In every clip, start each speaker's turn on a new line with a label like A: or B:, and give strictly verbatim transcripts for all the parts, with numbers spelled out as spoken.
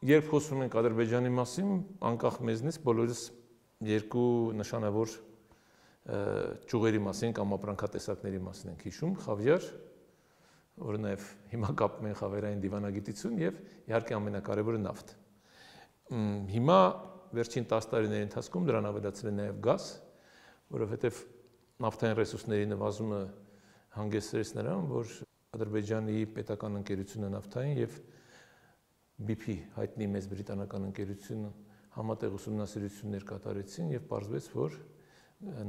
A: Երբ խոսում ենք Ադրբեջանի մասին, անկախ մեզնից բոլորս երկու նշանավոր ճյուղերի մասին կամ ապրանքատեսակների մասին ենք հիշում, խավիար, որը նաև հիմա կապում են խավիարային դիվանագիտություն եւ իհարկե ամենակարևորը նավթ։ Հիմա վերջին տասը տարիների ընթացքում դրան ավելացել է նաև գազ, որովհետեւ նավթային ռեսուրսների նվազումը հանգեցրեց նրան, որ Ադրբեջանի պետական ընկերությունը նավթային եւ B P հայտնի մեծ բրիտանական ընկերությունը համատեղ ուսումնասիրություններ կատարեցին եւ պարզվեց, որ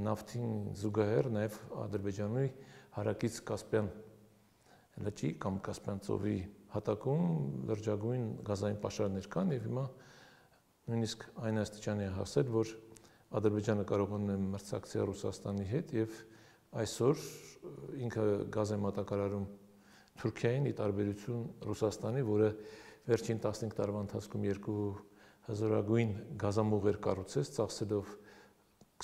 A: նավթին զուգահեռ նաև Ադրբեջանի հարակից Կասպյան լճի կամ Կասպյան ծովի հատակում լրջագույն գազային պաշարներ կան եւ հիմա նույնիսկ այն աստիճանի է հասել, որ Ադրբեջանը կարողանում է մրցակցել Ռուսաստանի հետ եւ այսօր ինքը գազ է մատակարարում Թուրքիային՝ ի տարբերություն Ռուսաստանի, որը վերջին տասնհինգ տարվա ընթացքում երկու հզորագույն գազամուղեր կառուցեց, ծախսելով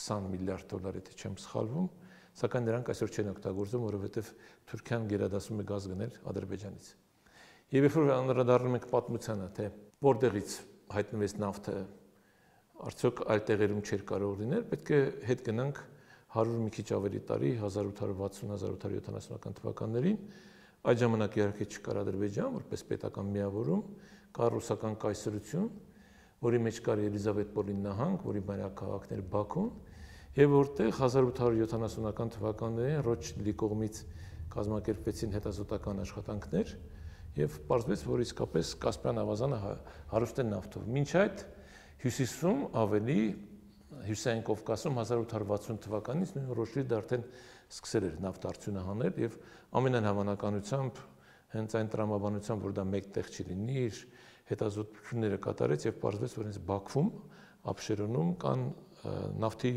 A: քսան միլիարդ դոլար, եթե չեմ սխալվում, սակայն նրանք այսօր չեն օգտագործում, որովհետև Թուրքիան գերադասում է գազ գնել Ադրբեջանից։ Եվ երբ որ անդրադառնում ենք պատմությանը, թե որտեղից հայտնվեց նավթը, արդյոք այլ տեղերում չէր կարող լինել, պետք է հետ գնանք հարյուր մի քիչ ավելի տարի, հազար ութ հարյուր վաթսուն - հազար ութ հարյուր յոթանասունական թվականներին, այդ ժամանակ իհարկե չկար Ադրբեջան որպես պետական միավորում, կար ռուսական կայսրություն, որի մեջ կար Ելիզավետպոլի նահանգ, որի մայրաքաղաքն էր Բաքուն, եւ որտեղ հազար ութ հարյուր յոթանասունական թվականներին Ռոթշիլդի կողմից կազմակերպվեցին հետազոտական աշխատանքներ եւ պարզվեց, որ իսկապես Կասպյան ավազանը հարուստ է նավթով։ Մինչ այդ հյուսիսում ավելի Հյուսիսային Կովկասում հազար ութ հարյուր վաթսուն թվականից նույն Ռոթշիլդը արդեն սկսել էր նավթ արդյունահանել եւ ամենայն հավանականությամբ հենց այն տրամաբանությամբ, որ դա մեկ տեղ չի լինի, իր հետազոտությունները կատարեց եւ պարզվեց, որ հենց Բաքվում, Աբշերոնում կան նավթի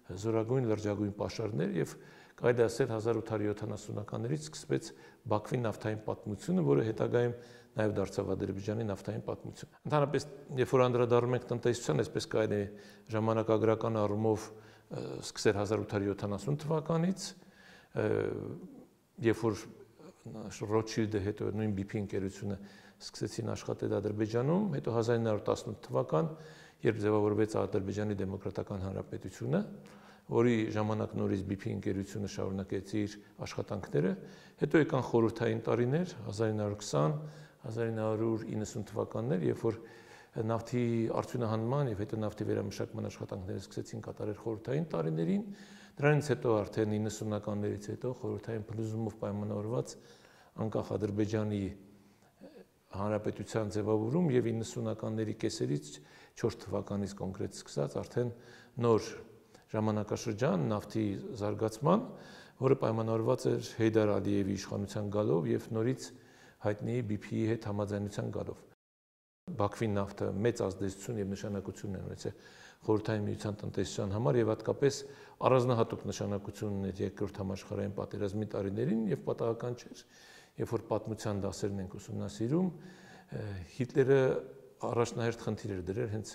A: զորագույն լրջագույն պաշարներ եւ կարելի է ասել հազար ութ հարյուր յոթանասունականներից սկսվեց Բաքվի նավթային պատմությունը, որը հետագայում նաև դարձավ Ադրբեջանի նավթային պատմություն։ Ընդհանրապես, երբ որ անդրադառնում ենք տնտեսության, այսպես կարելի է ժամանակագրական առումով սկսել հազար ութ հարյուր յոթանասուն թվականից, երբ որ Ռոթշիլդը հետո նույն B P ընկերությունը սկսեցին աշխատել Ադրբեջանում, հետո հազար ինը հարյուր տասնութ թվական, երբ ձևավորվեց Ադրբեջանի դեմոկրատական հանրապետությունը, որի ժամանակ նորից B P ընկերությունը շարունակեց իր աշխատանքները, հետո եկան խորհրդային տարիներ, հազար ինը հարյուր քսան - հազար ինը հարյուր իննսուն թվականներ, երբ որ նավթի արդյունահանման եւ հետո նավթի վերամշակման աշխատանքները սկսեցին կատարել խորհրդային տարիներին, դրանից հետո արդեն իննսունականներից հետո խորհրդային փլուզումով պայմանավորված անկախ Ադրբեջանի հանրապետության ձևավորում եւ իննսունականների կեսերից չորս թվականից կոնկրետ սկսած արդեն նոր ժամանակաշրջան նավթի զարգացման, որը պայմանավորված էր Հեյդար Ալիևի իշխանության գալով եւ նորից հայտնի B P-ի հետ համաձայնության գալով։ Բաքվի նավթը մեծ ազդեցություն եւ նշանակություն է ունեցել խորհրդային միության տնտեսության համար եւ հատկապես առանձնահատուկ նշանակություն ուներ երկրորդ համաշխարհային պատերազմի տարիներին եւ պատահական չէր, երբ որ պատմության դասերն ենք ուսումնասիրում, Հիտլերը առաջնահերթ խնդիր էր դրել հենց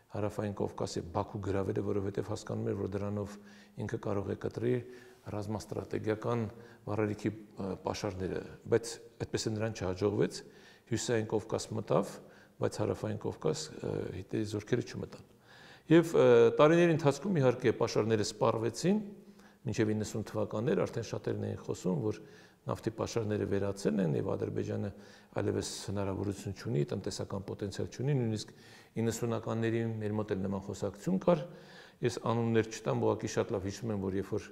A: հարավային Կովկասի Բաքու գրավելը, որովհետև հասկանում էր, որ դրանով ինքը կարող է կտրի ռազմաստրատեգիական վառելիքի պաշարները, բայց այդպես է նրան չհաջողվեց, Հյուսիսային Կովկաս մտավ, բայց հարավային Կովկաս Հիտլերի զորքերը չմտան։ Եվ տարիների ընթացքում իհարկե պաշարները սպառվեցին, մինչև իննսուն թվականներ արդեն շատերն էին խոսում, որ նավթի պաշարները վերացել են եւ Ադրբեջանը այլևս հնարավորություն չունի, տնտեսական պոտենցիալ չունի, նույնիսկ իննսունականներին մեր մոտ էլ նման խոսակցություն կար։ Ես անուններ չտամ, ուղղակի շատ լավ հիշում եմ, որ երբ որ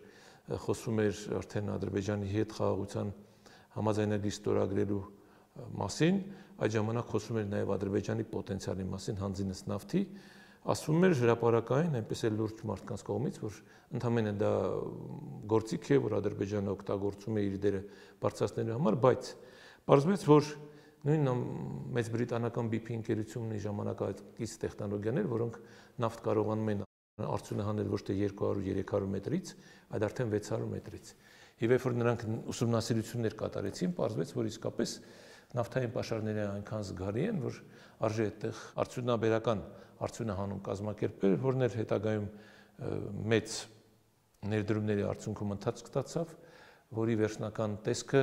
A: խոսում էր արդեն Ադրբեջանի հետ խաղաղության համաձայնագիր ստորագրելու մասին, այդ ժամանակ խոսում էր նաեւ Ադրբեջանի պոտենցիալի մասին հանձինս նավթի, ասվում էր հրապարակային, այնպես էլ լուրջ մարդկանց կողմից, որ ընդհանրապես դա գործիք է, որ Ադրբեջանը օգտագործում է իր դերը բարձրացնելու համար, բայց պարզվեց, որ նույն մեծ բրիտանական B P ընկերությունն իր ժամանակակից տեխնոլոգիաներ, որոնք նավթ կարողանում են արդյունահանել ոչ թե երկու հարյուր - երեք հարյուր մետրից, այլ արդեն վեց հարյուր մետրից։ Եվ երբ որ նրանք ուսումնասիրություններ կատարեցին, պարզվեց, որ իսկապես նավթային պաշարները այնքան զգալի են, որ արժե այդտեղ արդյունաբերական արդյունահանում կազմակերպել, որն էլ հետագայում մեծ ներդրումների արդյունքում ընթացք ստացավ, որի վերջնական տեսքը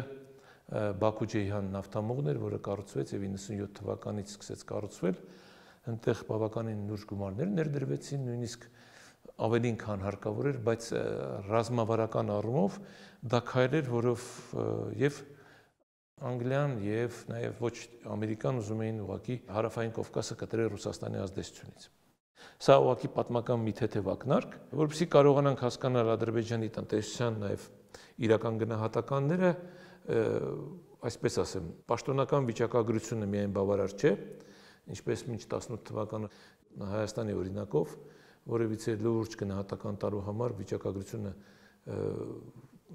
A: Բաքու-Ջեյհան նավթամուղն էր, որը կառուցվեց եւ իննսունյոթ թվականից սկսեց կառուցվել, այնտեղ բավականին լուրջ գումարներ ներդրվեցին, նույնիսկ ավելին քան հարկավոր էր, բայց ռազմավարական առումով դա քայլ էր, որով եւ Անգլիան եւ նաեւ ոչ Ամերիկան ուզում էին ուղղակի հարավային Կովկասը կտրել Ռուսաստանի ազդեցությունից։ Սա ուղղակի պատմական մի թեթև ակնարկ, որովհետեւ կարողանանք հասկանալ Ադրբեջանի տնտեսության նաեւ իրական գնահատականները, այսպես ասեմ, պաշտոնական վիճակագրությունը միայն բավարար չէ, ինչպես մինչ տասնութ թվականը Հայաստանի օրինակով, որևիցե լուրջ գնահատական տալու համար վիճակագրությունը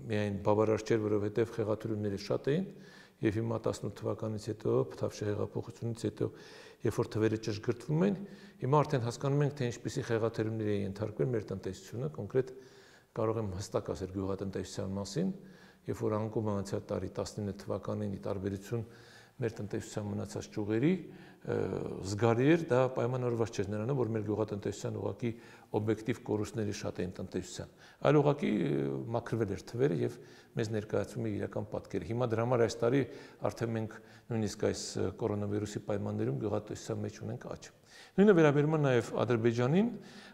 A: միայն բավարար չէր, որովհետև խեղաթյուրումները շատ էին, եւ հիմա տասնութ թվականից հետո, Փթավշե հեղափոխությունից հետո, երբ որ թվերը ճշգրտվում են, հիմա արդեն հասկանում ենք, թե ինչպիսի խեղաթյուրումների է ենթարկվել մեր տնտեսությունը, կոնկրետ կարող եմ հստակ ասել գյուղատնտեսության մասին, երբ որ անկում անցյալ տարի տասնինը թվականին ի տարբերություն մեր տնտեսության մնացած ճյուղերի զգալի էր, դա պայմանավորված չէր նրանով, որ մեր գյուղատնտեսության ուղղակի օբյեկտիվ կորուստների շատ էին տնտեսության, այլ ուղղակի մաքրվել էր թվերը եւ մեզ ներկայացում է իրական պատկերը։ Հիմա դրա համար այս տարի արդեն մենք նույնիսկ այս կորոնավիրուսի պայմաններում գյուղատնտեսության մեջ ունենք աճ։ Նույնը վերաբերում է նաեւ Ադրբեջանին,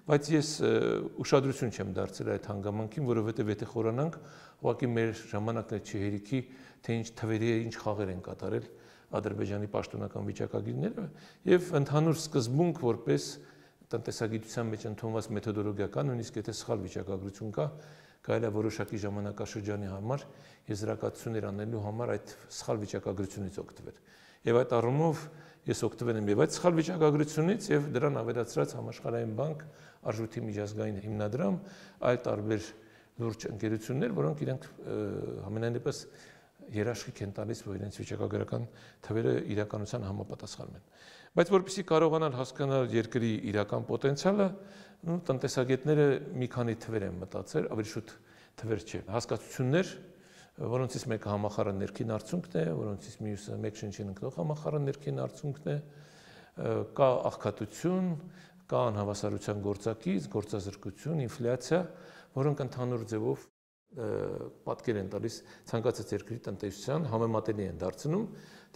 A: բայց ես ուշադրություն չեմ դարձրել այդ հանգամանքին, որովհետեւ եթե խորանանք, ուղղակի մեր ժամանակն չի հերիքի, թե ինչ թվերի է, ինչ խաղեր են կատարել Ադրբեջանի պաշտոնական վիճակագիրները եւ ընդհանուր սկզբունք որպես տնտեսագիտության մեջ ընդունված մեթոդոլոգիա կա, նույնիսկ եթե սխալ վիճակագրություն կա, կարելի է որոշակի ժամանակաշրջանի համար եզրակացություններ անելու համար այդ սխալ վիճակագրությունից օգտվել։ Եվ այդ առումով ես օգտվել եմ եւ այդ սխալ վիճակագրությունից եւ դրան ավելացրած Համաշխարհային բանկ, Արժույթի միջազգային հիմնադրամ, այլ տարբեր լուրջ ընկերություններ, որոնք իրենք ամենայն դեպս երաշխիք են տալիս, որ իրենց վիճակագրական թվերը իրականության համապատասխանում են։ Բայց որպեսզի կարողանալ հասկանալ երկրի իրական պոտենցիալը, տնտեսագետները մի քանի թվեր են մտածել, ավելի շուտ թվեր չէ, հասկացություններ, որոնցից մեկը համախառն ներքին արդյունքն է, որոնցից մյուսը մեկ շնչին ընկնող համախառն ներքին արդյունքն է, կա աղքատություն, կա անհավասարության գործակից, գործազրկություն, ինֆլյացիա, որոնք ընդհանուր ձևով պատկեր են տալիս ցանկացած երկրի տնտեսության, համեմատելի են դարձնում,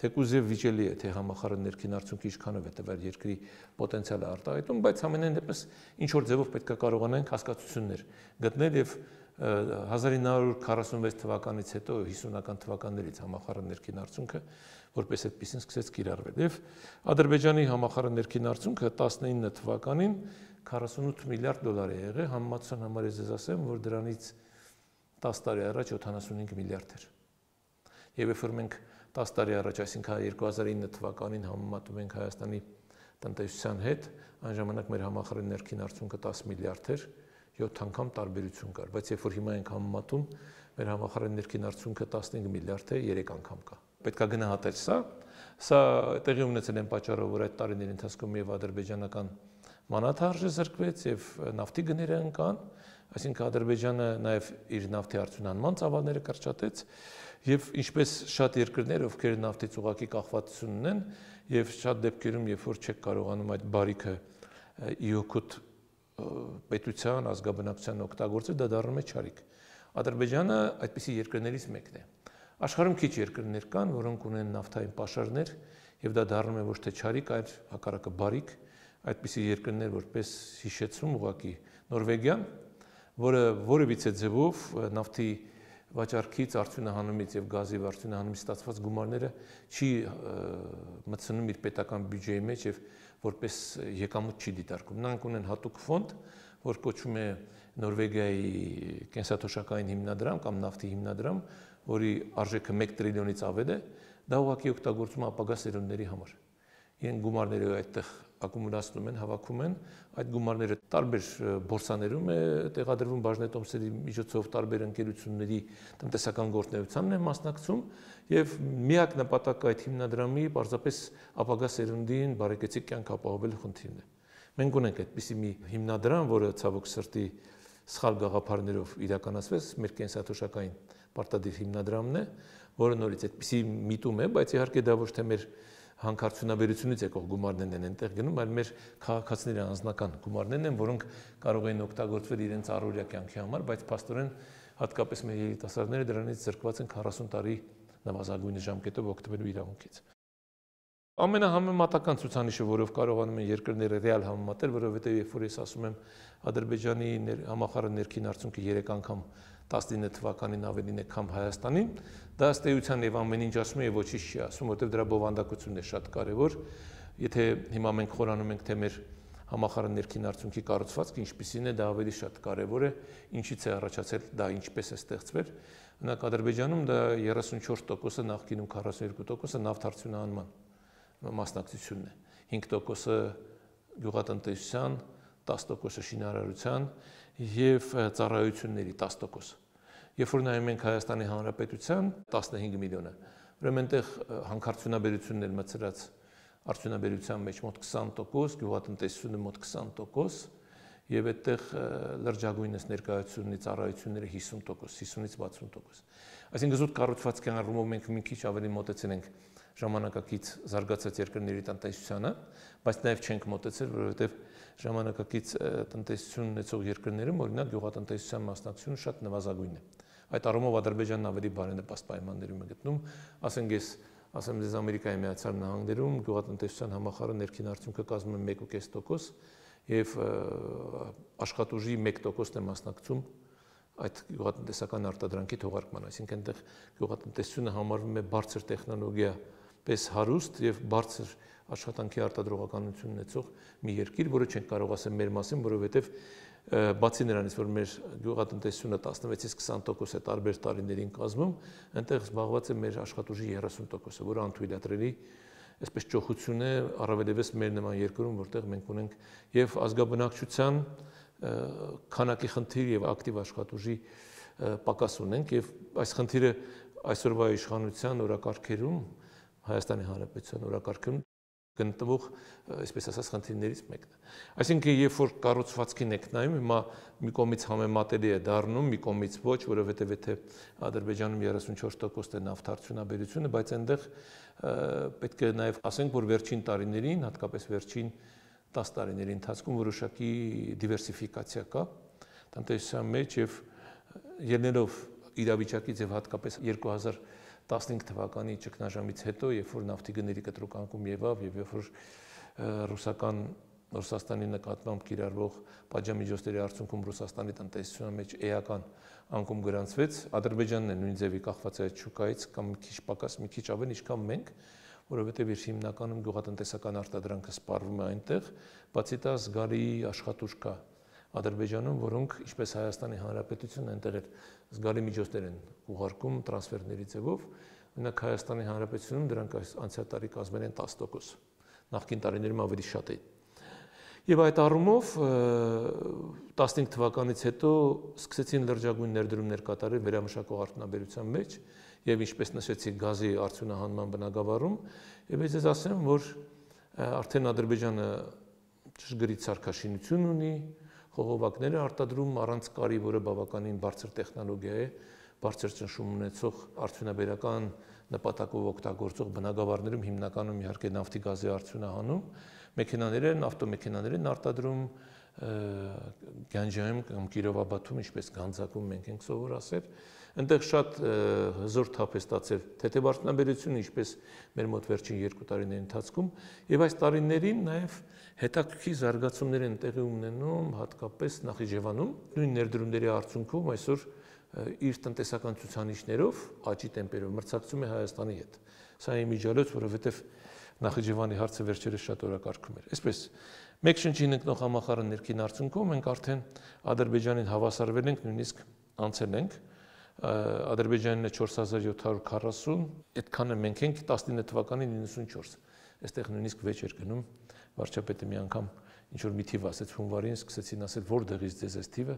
A: թեկուզ եւ վիճելի է, թե համախառն ներքին արդյունքը ինչքանով է տվել երկրի պոտենցիալը արտահայտում, բայց ամենայն դեպս ինչ որ ձևով պետք է կարողանանք հասկացություններ գտնել եւ հազար ինը հարյուր քառասունվեց թվականից հետո հիսունական թվականներից համախառն ներքին արդյունքը որպես այդպեսին սկսեց կիրառվել եւ Ադրբեջանի համախառն ներքին արդյունքը տասնինը թվականին քառասունութ միլիարդ դոլար է եղել, համեմատության համար ես ձեզ ասեմ, որ դրանից տասը տարի առաջ յոթանասունհինգ միլիարդ էր։ Եվ երբ որ մենք տասը տարի առաջ, այսինքն երկու հազար ինը թվականին համեմատում ենք Հայաստանի տնտեսության հետ, այն ժամանակ մեր համախառն ներքին արդյունքը տասը միլիարդ էր, յոթ անգամ տարբերություն կար, բայց երբ որ հիմա ենք համեմատում, մեր համախառն ներքին արդյունքը տասնհինգ միլիարդ է, երեք անգամ կա։ Պետք է գնահատել սա, սա տեղի ունեցել են պատճառով, որ այդ տարիների ընթացքում եւ ադրբեջանական մանաթարժը զրկվեց եւ նավթի գները ընկան, այսինքն Ադրբեջանը նաեւ իր նավթի արդյունահանման ծավալները կրճատեց եւ ինչպես շատ երկրներ, ովքեր նավթից ուղակի կախվածություն ունեն եւ շատ դեպքերում, երբ որ չեք կարողանում այդ բարիքը ի օգուտ պետության, ազգաբնակության օգտագործել, դա դառնում է չարիք։ Ադրբեջանը այդպիսի երկրներից մեկն է։ Աշխարհում քիչ երկրներ կան, որոնք ունեն նավթային պաշարներ եւ դա դառնում է ոչ թե չարիք, այլ հակառակը բարիք։ Այդպիսի երկրներ որպես հիշեցում ուղակի Նորվեգիան, որը որևիցե ձևով նավթի վաճառքից, արդյունահանումից եւ գազի արդյունահանումից ստացված գումարները չի մտցնում իր պետական բյուջեի մեջ եւ որպես եկամուտ չի դիտարկում։ Նրանք ունեն հատուկ ֆոնդ, որ կոչվում է Նորվեգիայի կենսաթոշակային հիմնադրամ կամ նավթի հիմնադրամ, որի արժեքը մեկ տրիլիոնից ավել է, դա ուղղակի օգտագործում է ապագա սերունդների համար։ Իրենք գումարները այդտեղ ակումուլացնում են, հավաքում են, այդ գումարները տարբեր բորսաներում է տեղադրվում բաժնետոմսերի միջոցով, տարբեր ընկերությունների տնտեսական գործունեությանն են մասնակցում եւ միակ նպատակը այդ հիմնադրամի պարզապես ապագա սերունդին բարեկեցիկ կյանք ապահովելու խնդիրն է։ Մենք ունենք այդպիսի մի հիմնադրամ, որը ցավոք սրտի սխալ գաղափարներով իրականացվեց, մեր կենսաթոշակային պարտադիր հիմնադրամն է, որը նորից այդպիսի միտում է, բայց իհարկե դա ոչ թե մեր հանքարդյունաբերությունից եկող գումարներն են այնտեղ գնում, այլ մեր քաղաքացիների անձնական գումարներն են, որոնք կարող են օգտագործվել իրենց առօրյա կյանքի համար, բայց փաստորեն հատկապես մեր երիտասարդները դրանից զրկված են քառասուն տարի նվազագույն ժամկետով օգտվելու իրավունքից։ Ամենահամեմատական ցուցանիշը, որով կարողանում են երկրները ռեալ համեմատել, որովհետև երբ որ ես ասում եմ Ադրբեջանի համախառն ներքին արդյունքը երեք անգամ տասնինը թվականին ավելին է, քան Հայաստանի, դա ըստ էության եւ ամեն ինչ ասում է եւ ոչինչ չի ասում, որովհետև դրա բովանդակությունն է շատ կարեւոր։ Եթե հիմա մենք խորանում ենք, թե մեր համախառն ներքին արդյունքի կառուցվածքը ինչպիսին է, դա ավելի շատ կարեւոր է, ինչից է առաջացել, դա ինչպես է ստեղծվել։ Օրինակ Ադրբեջանում դա երեսունչորս տոկոսը, նախկինում քառասունյոթ տոկոսը նավթարդյունահանման մասնակցությունն է, հինգ տոկոսը գյուղատնտեսության, տասը տոկոսը շինարարության եւ ծառայությունների տասը տոկոս։ Երբ որ նայում ենք Հայաստանի Հանրապետության տասնհինգ միլիոնը, ուրեմն այնտեղ հանքարդյունաբերությունն էլ մցրած արդյունաբերության մեջ մոտ քսան տոկոս, գյուղատնտեսությունը մոտ քսան տոկոս եւ այդտեղ լրջագույնս ներկայացությունների ծառայությունները հիսուն տոկոս, հիսունից վաթսուն տոկոս։ Այսինքն զուտ կառուցվածքի առումով մենք մի քիչ ավելի մոտեցել ենք ժամանակակից զարգացած երկրների տնտեսությանը, բայց նաև չենք մոտեցել, որովհետև ժամանակակից տնտեսություն ունեցող երկրներում օրինակ գյուղատնտեսության մասնակցությունը շատ նվազագույն է։ Այդ առումով Ադրբեջանն ավելի բարենպաստ պայմաններում է գտնում, ասենք ես ասեմ ձեզ Ամերիկայի Միացյալ Նահանգներում գյուղատնտեսության համախառն ներքին արդյունքը կազմում է մեկ կես տոկոս եւ աշխատուժի մեկ տոկոսն է մասնակցում այդ գյուղատնտեսական արտադրանքի թողարկման, այսինքն այնտեղ գյուղատնտեսությունը համարվում է բարձր տեխնոլոգիա պես հարուստ եւ բարձր աշխատանքի արտադրողականություն ունեցող մի երկիր, որը չենք կարող ասել մեր մասին, որովհետեւ բացի նրանից, որ մեր գյուղատնտեսությունը տասնվեցից քսան տոկոս է տարբեր տարիներին կազմում, այնտեղ զբաղված է մեր աշխատուժի երեսուն տոկոսը, որը անթույլատրելի այսպես ճոխություն է, առավելևս մեր նման երկրում, որտեղ մենք ունենք եւ ազգաբնակչության քանակի խնդիր եւ ակտիվ աշխատուժի պակաս ունենք եւ այս խնդիրը այսօրվա իշխանության օրակարգերում Հայաստանի Հանրապետության օրակարգում գտնվող, այսպես ասած, խնդիրներից մեկն է։ Այսինքն, երբ որ կառուցվածքին եք նայում, հիմա մի կողմից համեմատելի է դառնում, մի կողմից ոչ, որովհետև եթե Ադրբեջանում երեսունչորս տոկոս է նավթարդյունաբերությունը, բայց այնտեղ պետք է նաև ասենք, որ վերջին տարիներին, հատկապես վերջին տասը տարիների ընթացքում որոշակի դիվերսիֆիկացիա կա տնտեսության մեջ եւ ելնելով իրավիճակից եւ հատկապես երկու հազար տասնհինգ թվականի ճգնաժամից հետո, երբ որ նավթի գների կտրուկ եղավ եւ երբ որ ռուսական Ռուսաստանի նկատմամբ կիրառվող պատժամիջոցների արդյունքում Ռուսաստանի տնտեսության մեջ էական անկում գրանցվեց, Ադրբեջանն է նույն ձևի կախված այդ շուկայից կամ մի քիչ պակաս, մի քիչ ավելի, ինչքան մենք, որովհետեւ իր հիմնականում գյուղատնտեսական արտադրանքը սպառվում է այնտեղ, բացի դա զգալի աշխատուժ կա Ադրբեջանում, որոնք ինչպես Հայաստանի Հանրապետությունը այնտեղ էլ զգալի միջոցներ են ուղարկում տրանսֆերների ձևով, օրինակ Հայաստանի Հանրապետությունում դրանք անցյալ տարի կազմել են տասը տոկոս, նախկին տարիներում ավելի շատ էին։ Եվ այդ առումով տասնհինգ թվականից հետո սկսեցին լրջագույն ներդրումներ կատարել վերամշակող արդյունաբերության մեջ եւ ինչպես նշեցի գազի արդյունահանման բնագավառում, եւ ես ասեմ, որ արդեն Ադրբեջանը ճշգրիտ սարքաշինություն ունի, խողովակներ է արտադրում առանց կարի, որը բավականին բարձր տեխնոլոգիա է, բարձր ճնշում ունեցող արդյունաբերական նպատակով օգտագործող բնագավառներում հիմնականում իհարկե նավթի գազի արդյունահանում, մեքենաներ են, ավտոմեքենաներ են արտադրում, Գանջայում կամ Կիրովաբադում, ինչպես Գանձակում մենք ենք սովոր ասել, այնտեղ շատ հզոր թափ է ստացել թեթևարդյունաբերությունը, ինչպես մեր մոտ վերջին երկու տարիների ընթացքում, եւ այս տարիներին նաեւ հետաքրքիր զարգացումներ են տեղի ունենում, հատկապես Նախիջևանում, նույն ներդրումների արդյունքում այսօր իր տնտեսական ցուցանիշներով աճի տեմպերով մրցակցում է Հայաստանի հետ։ Սա է իմիջիալոց, որովհետեւ Նախիջևանի հարցը վերջերս շատ օրակարգում էր։ Այսպես, մեկ շնչին ընկնող համախառն ներքին արդյունքում մենք արդեն Ադրբեջանին հավասարվել ենք, նույնիսկ անցել ենք։ Ադրբեջանն է չորս հազար յոթ հարյուր քառասուն, այդքանը մենք ենք տասնինը թվականին իննսունչորս։ Այստեղ նույնիսկ վեճ էր գնում, վարչապետը մի անգամ ինչ որ մի թիվ ասեց հունվարին, սկսեցին ասել որտեղից ձեզ այս թիվը,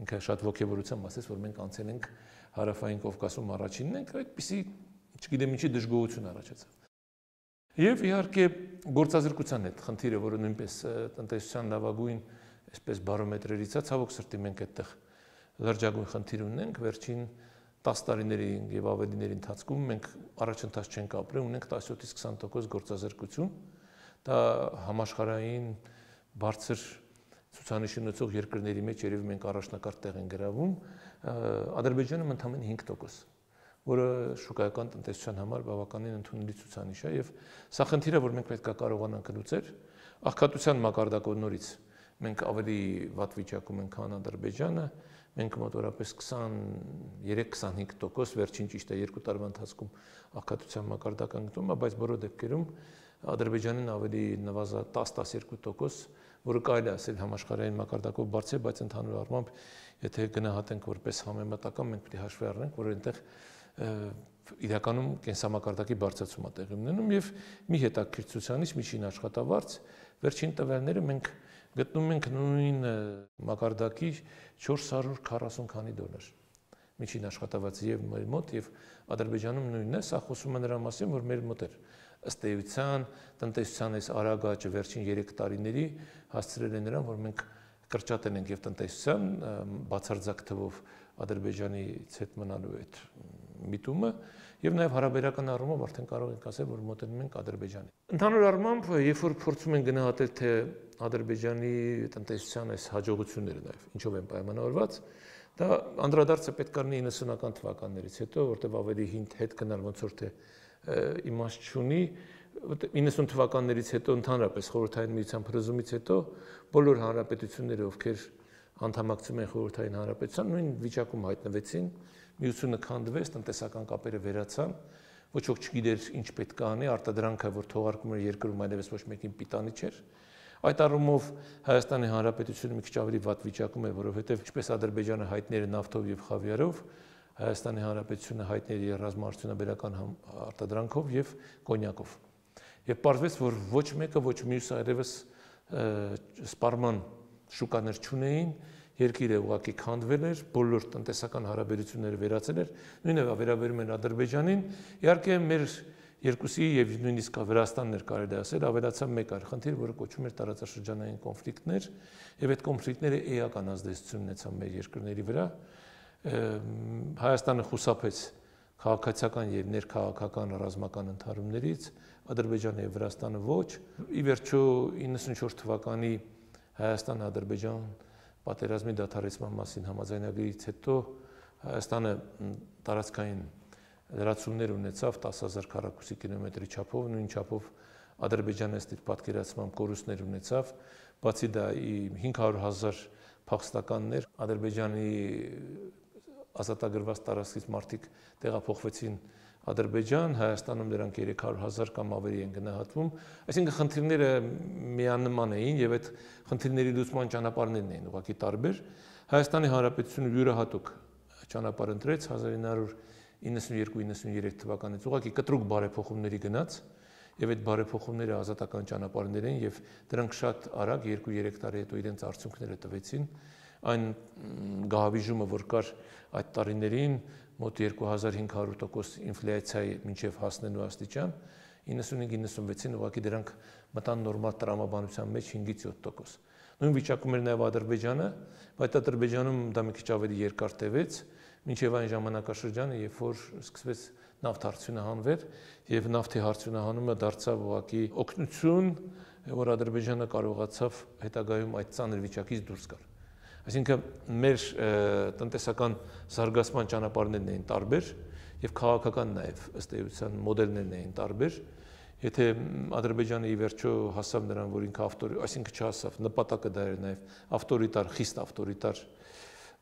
A: ինքը շատ ողջավորությամբ ասեց, որ մենք անցել ենք Հարավային Կովկասում առաջինն ենք, այդպիսի, չգիտեմ ինչի դժգոհություն առաջացավ։ Եվ իհարկե գործազրկության հետ խնդիրը, որը նույնպես տնտեսության լավագույն այսպես բարոմետրերից է, ցավոք սրտի մենք այդտեղ լրջագույն խնդիր ունենք, վերջին տասը տարիների եւ ավելիների ընթացքում մենք առաջընթաց չենք ապրել, ունենք տասնյոթից քսան տոկոս գործազրկություն, դա համաշխարհային բարձր ցուցանիշ ունեցող երկրների մեջ երևի մենք առաջնակարգ տեղ են գրավում, Ադրբեջանում ընդամենը հինգ տոկոս, որը շուկայական տնտեսության համար բավականին ընդունելի ցուցանիշ է եւ սա խնդիրը, որ մենք պետք է կարողանանք լուծել, աղքատության մակարդակով նորից մենք ավելի վատ վիճակում ենք, քան Ադրբեջանը, մենք մոտավորապես քսաներեք քսանհինգ տոկոս վերջին ճիշտ է երկու տարվա ընթացքում աղքատության մակարդակը գտնում է, բայց բոլոր դեպքերում Ադրբեջանին ավելի նվազա տաս տասներկու տոկոս, որը կարելի է ասել համաշխարհային մակարդակով բարձր, բայց ընդհանուր առմամբ եթե գնահատենք որպես համեմատական, մենք պետք է հաշվի առնենք, որ այնտեղ իրականում կենսամակարդակի բարձրացում է տեղի ունենում եւ մի հետաքրքիր ցուցանիշ միջին աշխատավարձ վերջին տվյալները մենք գտնում ենք նույն մակարդակի չորս հարյուր քառասուն քանի դոլար միջին աշխատավարձը եւ մեր մոտ եւ Ադրբեջանում նույնն է, սա խոսում է նրա մասին, որ մեր մոտ էր ըստ էության տնտեսության այս արագ աճը վերջին երեք տարիների հասցրել է նրան, որ մենք կրճատել ենք եւ տնտեսության բացարձակ թվով Ադրբեջանից հետ մնալու այդ միտումը եւ նաեւ հարաբերական առումով արդեն կարող ենք ասել, որ մոտենում ենք Ադրբեջանի։ Ընդհանուր առմամբ, երբ որ փորձում են գնահատել թե Ադրբեջանի տնտեսության այս հաջողությունները նաեւ ինչով են պայմանավորված, դա անդրադարձը պետք է լինի իննսունական թվականներից հետո, որտեղ ավելի հին հետ գնալ ոնց որ թե իմաստ չունի, իննսուն թվականներից հետո ընդհանրապես խորհրդային միության փլուզումից հետո բոլոր հանրապետությունները, ովքեր անդամակցում են խորհրդային հանրապետության, նույն վիճակում հայտնվեցին, միությունը քանդվեց, տնտեսական կապերը վերացան, ոչ ոք չգիտեր ինչ պետք է անի, արտադրանքը, որ թողարկում էր երկրում այլևս ոչ մեկին պիտանի չէր։ Այդ առումով Հայաստանի Հանրապետությունը մի քիչ ավելի վատ վիճակում է, որովհետև ինչպես Ադրբեջանը հայտնի էր նավթով եւ խավիարով, Հայաստանի Հանրապետությունը հայտնի էր ռազմաարդյունաբերական արտադրանքով եւ կոնյակով։ Եվ պարզվեց, որ ոչ մեկը, ոչ մյուսը այլևս սպառման շուկաներ չունեին, երկիրը ուղղակի քանդվել էր, բոլոր տնտեսական հարաբերությունները վերացել էր, նույնը վերաբերում են Ադրբեջանին, իհարկե մեր երկուսի եւ նույնիսկ Վրաստանն էր կարելի ասել, ավելացավ մեկ այլ խնդիր, որը կոչվում էր տարածաշրջանային կոնֆլիկտներ, եւ այդ կոնֆլիկտները էական ազդեցություն ունեցան մեր երկրների վրա։ Հայաստանը խուսափեց քաղաքացիական եւ ներքաղաքական ռազմական ընդհարումներից, Ադրբեջանը եւ Վրաստանը ոչ։ Ի վերջո իննսունչորս թվականի Հայաստան-Ադրբեջան պատերազմի դադարեցման մասին համաձայնագրից հետո Հայաստանը տարածքային լրացումներ ունեցավ տասը հազար քառակուսի կիլոմետրի չափով, նույն չափով Ադրբեջանը ըստ իր պատկերացմամբ կորուստներ ունեցավ, բացի դա հինգ հարյուր հազար փախստականներ Ադրբեջանի ազատագրված տարածքից մարդիկ տեղափոխվեցին Ադրբեջան, Հայաստանում դրանք երեք հարյուր հազար կամ ավելի են գնահատվում, այսինքն խնդիրները միանման էին եւ այդ խնդիրների լուծման ճանապարհներն էին ուղղակի տարբեր։ Հայաստանի Հանրապետությունը յուրահատուկ ճանապարհ ընտրեց հազար ինը հարյուր իննսունյերկու իննսունյերեք թվականից ուղղակի կտրուկ բարեփոխումների գնաց եւ այդ բարեփոխումները ազատական ճանապարհներ են եւ դրանք շատ արագ երկու-երեք տարի հետո իրենց արդյունքները տվեցին։ Այն գահավիժումը, որ կար այդ տարիներին մոտ երկու հազար հինգ հարյուր տոկոս ինֆլյացիայի մինչև հասնելու աստիճան, իննսունհինգ իննսունվեցին ուղղակի դրանք մտան նորմալ տրամաբանության մեջ հինգից յոթ տոկոս։ Նույն վիճակում էր նաև Ադրբեջանը, բայց Ադրբեջանում դա մի քիչ ավելի երկար տևեց, մինչև այն ժամանակաշրջանը, երբ որ սկսվեց նավթ արդյունահանվել եւ նավթի արդյունահանումը դարձավ ուղղակի օգնություն, որ Ադրբեջանը կարողացավ հետագայում այդ ծանր վիճակից դուրս գալ։ Այսինքն մեր տնտեսական զարգացման ճանապարհներն էին տարբեր եւ քաղաքական նաեւ ըստ էության մոդելներն էին տարբեր։ Եթե Ադրբեջանը ի վերջո հասավ նրան, որ ինքը ավտորի, այսինքն չհասավ, նպատակը դա էր նաեւ ավտորիտար, խիստ ավտորիտար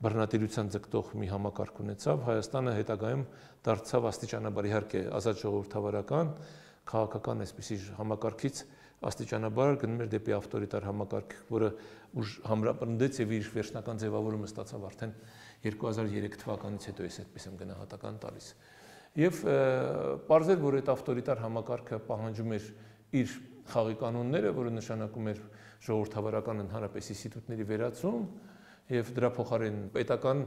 A: բռնատիրության ձգտող մի համակարգ ունեցավ, Հայաստանը հետագայում դարձավ աստիճանաբար իհարկե ազատ ժողովրդավարական, քաղաքական այսպիսի համակարգից աստիճանաբար գնում էր դեպի ավտորիտար համակարգ, որը ուժ համրապնդեց եւ իր վերջնական ձևավորումը ստացավ արդեն երկու հազար երեք թվականից հետո էս այդպես եմ գնահատական տալիս։ Եվ պարզել, որ այդ ավտորիտար համակարգը պահանջում էր իր խաղի կանոնները, որը նշանակում էր ժողովրդավարական ընդհանրապես ինստիտուտների վերացում եւ դրա փոխարեն պետական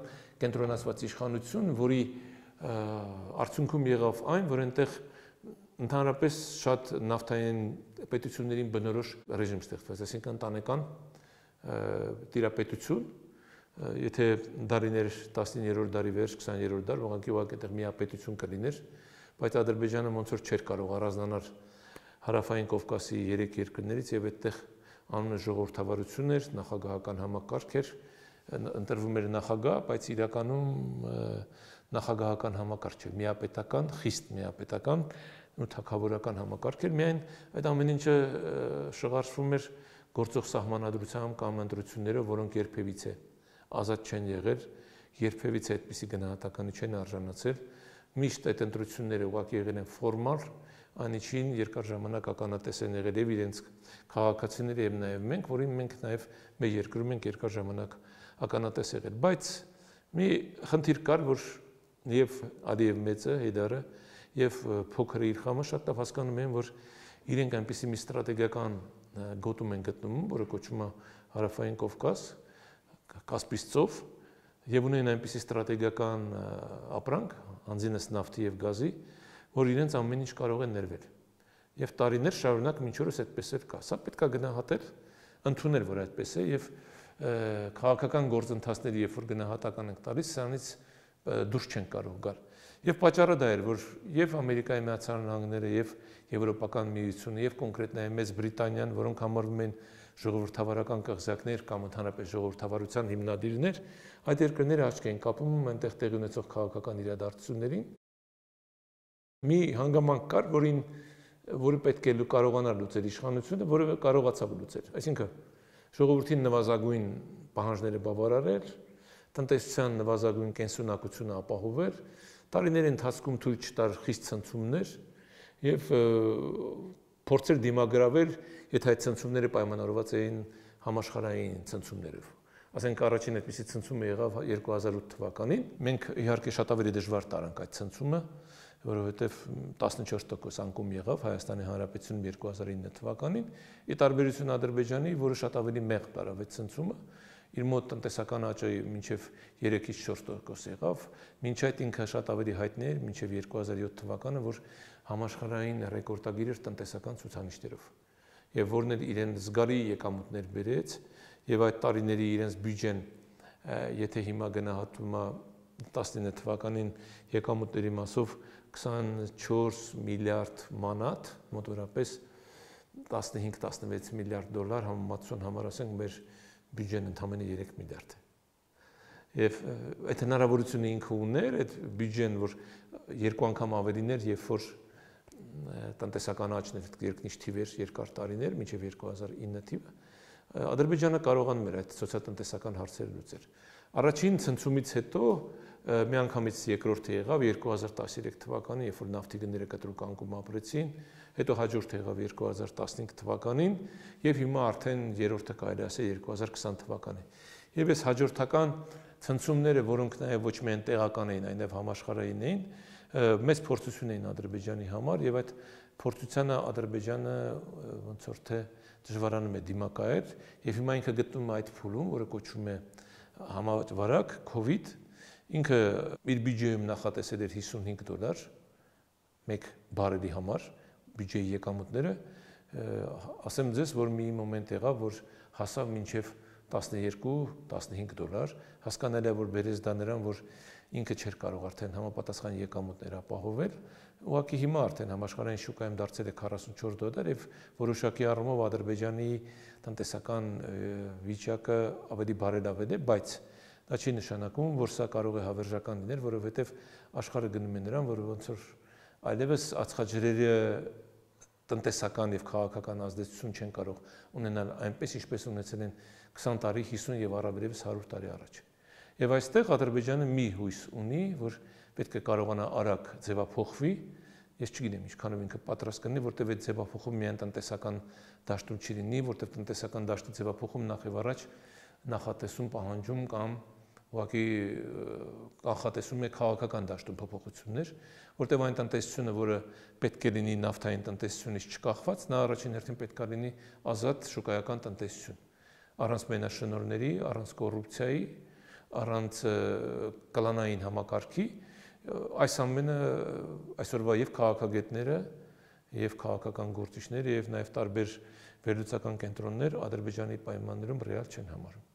A: կենտրոնացված իշխանություն, որի արդյունքում եղավ այն, որ այնտեղ ընդհանրապես շատ նավթային պետություններին բնորոշ ռեժիմ ստեղծվեց, այսինքն ընտանեկան տիրապետություն, եթե դարիներ տասնիններորդ դարի վերջ, քսաներորդ դար, ուղղակի ուղղակի այդտեղ միապետություն կլիներ, բայց Ադրբեջանը ոնց որ չէր կարող առանձնանալ հարավային Կովկասի երեք երկրներից եւ այդտեղ անունը ժողովրդավարություն էր, նախագահական համակարգ էր, ընտրվում էր նախագահ, բայց իրականում նախագահական համակարգ չէր, միապետական, խիստ միապետական ու թագավորական համակարգ էր, միայն այդ ամեն ինչը շղարշվում էր գործող սահմանադրությամբ կամ ընտրություններով, որոնք երբևիցե ազատ չեն եղել, երբևիցե այդպիսի գնահատականի չեն արժանացել, միշտ այդ ընտրությունները ուղղակի եղել են ֆորմալ, անիչին երկար ժամանակ ականատես են եղել եւ իրենց քաղաքացիները եւ նաեւ մենք, որին մենք նաեւ մեր երկրում ենք երկար ժամանակ ականատես եղել, բայց մի խնդիր կար, որ եւ Ալիև մեծը, Հեյդարը եւ փոքրը իր խամը շատ լավ հասկանում են, որ իրենք այնպիսի մի ստրատեգիական գոտում են գտնում, որը կոչվում է Հարավային Կովկաս, Կասպից ծով, եւ ունեն այնպիսի ստրատեգիական ապրանք, անձինս նավթի եւ գազի, որ իրենց ամեն ինչ կարող է ներվել։ Եվ տարիներ շարունակ մինչ օրս այդպես էլ կա։ Սա պետք է գնահատել, ընդունել, որ այդպես է եւ քաղաքական գործընթացների, երբ որ գնահատական ենք տալիս, սրանից դուրս չեն կարող գալ։ Եվ պատճառը դա էր, որ եւ Ամերիկայի Միացյալ Նահանգները եւ Եվրոպական միությունը եւ կոնկրետ նաեւ Մեծ Բրիտանիան, որոնք համարվում են ժողովրդավարական կղզյակներ կամ ընդհանրապես ժողովրդավարության հիմնադիրներ, այդ երկրները աչք են կապում այնտեղ տեղի ունեցող քաղաքական իրադարձություններին։ Մի հանգամանք կար, որին որը պետք է կարողանար լուծել իշխանությունը, որը կարողացավ լուծել։ Այսինքն ժողովրդին նվազագույն պահանջները բավարարել, տնտեսության նվազագույն կենսունակությունը ապահովել, տարիների ընթացքում թույլ չտար խիստ ցնցումներ եւ փորձեր դիմագրավել, եթե այդ ցնցումները պայմանավորված էին համաշխարհային ցնցումներով։ Ասենք առաջին այդպիսի ցնցումը եղավ երկու հազար ութ թվականին։ Մենք իհարկե շատ ավելի դժվար տարանք այդ ցնցումը, որովհետև տասնչորս տոկոս անկում եղավ Հայաստանի Հանրապետությունում երկու հազար ինը թվականին, ի տարբերություն Ադրբեջանի, որը շատ ավելի մեղմ տարավ այդ ցնցումը, իր մոտ տնտեսական աճը մինչև երեքից չորս տոկոս եղավ, մինչ այդ ինքը շատ ավելի հայտնի էր մինչև երկու հազար յոթ թվականը, որ համաշխարհային ռեկորդագիր էր տնտեսական ցուցանիշներով, եւ որն էլ իրեն զգալի եկամուտներ բերեց, եւ այդ տարիների իրենց բյուջեն, եթե հիմա գնահատվում է տասնինը թվականին եկամուտների մասով քսանչորս միլիարդ մանատ, մոտավորապես տասնհինգ տասնվեց միլիարդ դոլար, համեմատության համար ասենք մեր բյուջեն ընդամենը երեք միլիարդ է։ Եվ այդ հնարավորությունը ինքը ուներ, այդ բյուջեն, որ երկու անգամ ավելին էր, երբ որ տնտեսական աճն էր երկնիշ թիվեր երկար տարիներ, մինչև երկու հազար ինը թիվը, Ադրբեջանը կարողանում էր այդ սոցիալ-տնտեսական հարցերը լուծել։ Առաջին ցնցումից հետո միանգամից երկրորդը եղավ երկու հազար տասներեք թվականին, երբ որ նավթի գները կտրուկ անկում ապրեցին, հետո հաջորդը եղավ երկու հազար տասնհինգ թվականին եւ հիմա արդեն երրորդը կարելի ասել երկու հազար քսան թվականին։ Եվ այս հաջորդական ցնցումները, որոնք նաեւ ոչ միայն տեղական էին, այլև համաշխարհային էին, մեծ փորձություն էին Ադրբեջանի համար եւ այդ փորձությանը Ադրբեջանը ոնց որ թե դժվարանում է դիմակայել եւ հիմա ինքը գտնում է այդ փուլում, որը կոչվում է համավարակ COVID, ինքը իր բյուջեում նախատեսել էր հիսունհինգ դոլար մեկ բարելի համար, բյուջեի եկամուտները, ասեմ ձեզ, որ մի մոմենտ եղավ, որ հասավ մինչև տասներկու տասնհինգ դոլար, հասկանալի է, որ բերեց դա նրան, որ ինքը չէր կարող արդեն համապատասխան եկամուտներ ապահովել, ուղղակի հիմա արդեն համաշխարհային շուկայում դարձել է քառասունչորս դոլար եւ որոշակի առումով Ադրբեջանի տնտեսական վիճակը ավելի բարելավել է, բայց դա չի նշանակում, որ սա կարող է հավերժական լինել, որովհետեւ աշխարհը գնում է նրան, որ ոնց որ այլևս ածխաջրերը տնտեսական եւ քաղաքական ազդեցություն չեն կարող ունենալ այնպես, ինչպես ունեցել են քսան տարի, հիսուն եւ առավելևս հարյուր տարի առաջ։ Եվ այստեղ Ադրբեջանը մի հույս ունի, որ պետք է կարողանա արագ ձևափոխվի, ես չգիտեմ ինչքանով ինքը պատրաստ կլինի, որտեղ այդ ձևափոխումը միայն տնտեսական դաշտում չի լինի, որտեղ տնտեսական դաշտի ձևափոխում նախ եւ առաջ նախատեսում պահանջում կամ ուղղակի կանխատեսում է քաղաքական դաշտում փոփոխություններ, որտեղ այն տնտեսությունը, որը պետք է լինի նավթային տնտեսությունից չկախված, նա առաջին հերթին պետք է լինի ազատ շուկայական տնտեսություն, առանց մենաշնորհների, առանց կոռուպցիայի, առանց կլանային համակարգի, այս ամենը այսօրվա եւ քաղաքագետները, եւ քաղաքական գործիչները, եւ նաեւ տարբեր վերլուծական կենտրոններ Ադրբեջանի պայմաններում ռեալ չեն համարում։